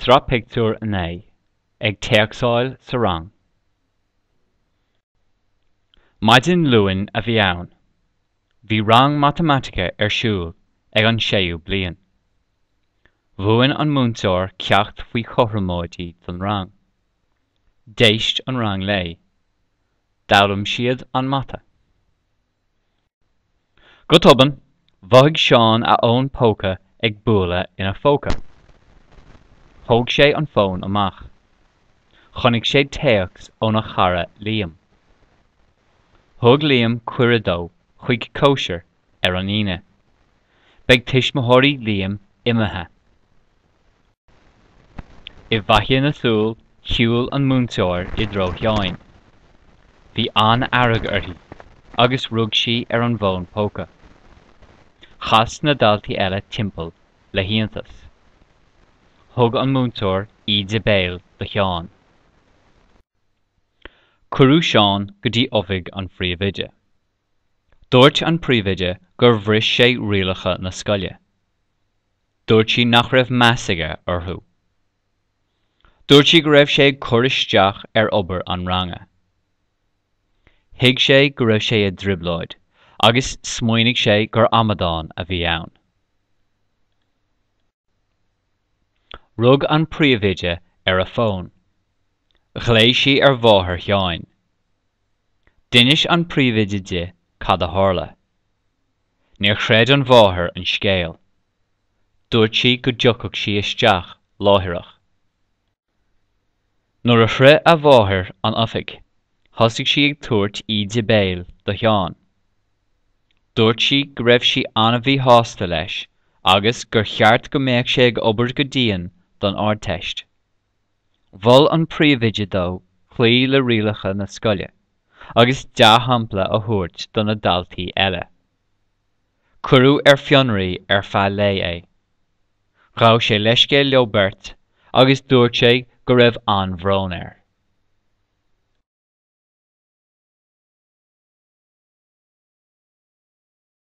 Sraith Pictiúr 9, Ag Téacsáil sa Rang. Maidin Luain a bhí ann. Bhí rang matamaitice ar siúl ag an séú bliain. Mhúin an múinteoir ceacht faoi chothromóidí don rang. D'éist an rang léi. D'fhoghlaim siad an mata. Go tobann, mhothaigh Seán a fhón póca ag bualadh ina phóca. Thóg sé an fón amach. Chonaic sé téacs óna chara Liam. Thug Liam cuireadh dó chuig cóisir ar an Aoine. Beidh tuismitheoirí Liam imithe. I bhfaiteadh na súl, shiúil an múinteoir i dtreo Sheáin. Bhí an-fhearg uirthi agus rug sí ar an bhfón póca. Chas na daltaí eile timpeall le hiontas. Thug an múinteoir íde béil do Sheán. Cuireadh Seán go dtí oifig an phríomhoide. Dúirt an príomhoide gur bhris sé rialacha na scoile. Dúirt sí nach raibh meas aige orthu. Dúirt sí go raibh sé ag cur isteach ar obair an ranga. Thuig sé go raibh sé i dtrioblóid agus smaoinigh sé gur amadán a bhí ann. Rug an príomhoide ar a fón. Ghlaoigh sí ar mháthair Sheáin. D'inis an príomhoide di cad a tharla. Níor chreid an mháthair an scéal. Dúirt sí go dtiocfadh sí isteach láithreach. Nuair a shroich a mháthair an oifig, thosaigh sí ag tabhairt íde béil do Sheán. Dúirt sí go raibh sí an-mhíshásta leis agus gur cheart go mbeadh sé ag obair go dian don Ardteist. Mhol an príomhoide dó cloí le rialacha na scoile agus dea-shampla a thabhairt do na daltaí eile. Cuireadh ar fionraí ar feadh lae é. Ghabh sé leithscéal leo beirt agus dúirt sé go raibh an-bhrón air.